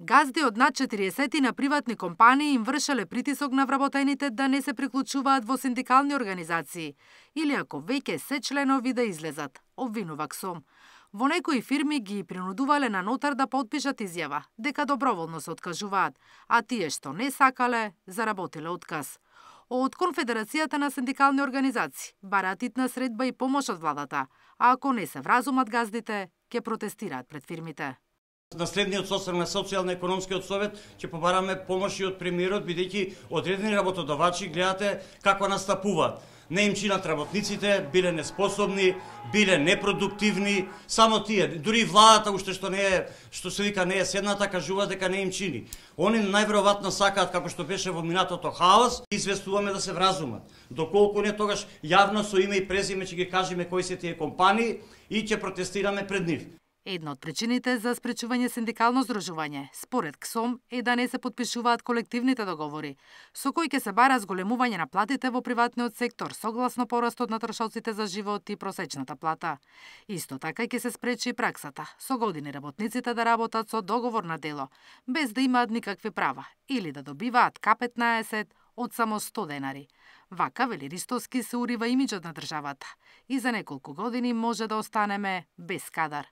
Газди од над 40 на приватни компании им вршеле притисок на вработените да не се приклучуваат во синдикални организации или ако веќе се членови да излезат, обвинува КСОМ. Во некои фирми ги принудувале на нотар да потпишат изјава дека доброволно се откажуваат, а тие што не сакале, заработиле отказ. Од Конфедерацијата на синдикални организации бараат итна средба и помош од владата, а ако не се вразумат газдите, ќе протестираат пред фирмите. На следниот состав на социјално-економскиот совет ќе побараме помош и од премиерот, бидејќи одредени работодавачи гледате како настапуваат. Не им чинат работниците, биле неспособни, биле непродуктивни, само тие, дури владата уште што се вика не е седната, кажува дека не им чини. Они најверојатно сакаат, како што беше во минатото хаос, известуваме да се вразумат. Доколку не, тогаш јавно со име и презиме ќе ги кажеме кои се тие компании и ќе протестираме пред нив. Една од причините за спречување синдикално здружување, според КСОМ, е да не се потпишуваат колективните договори, со кои ќе се бара зголемување на платите во приватниот сектор согласно порастот на трошоците за живот и просечната плата. Исто така ќе се спречи праксата со години работниците да работат со договор на дело, без да имаат никакви права, или да добиваат К15 од само 100 денари. Вака, вели Ристовски, се урива имиџот на државата и за неколку години може да останеме без кадар.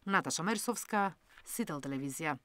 Наташа Мерсовска, Сител телевизија.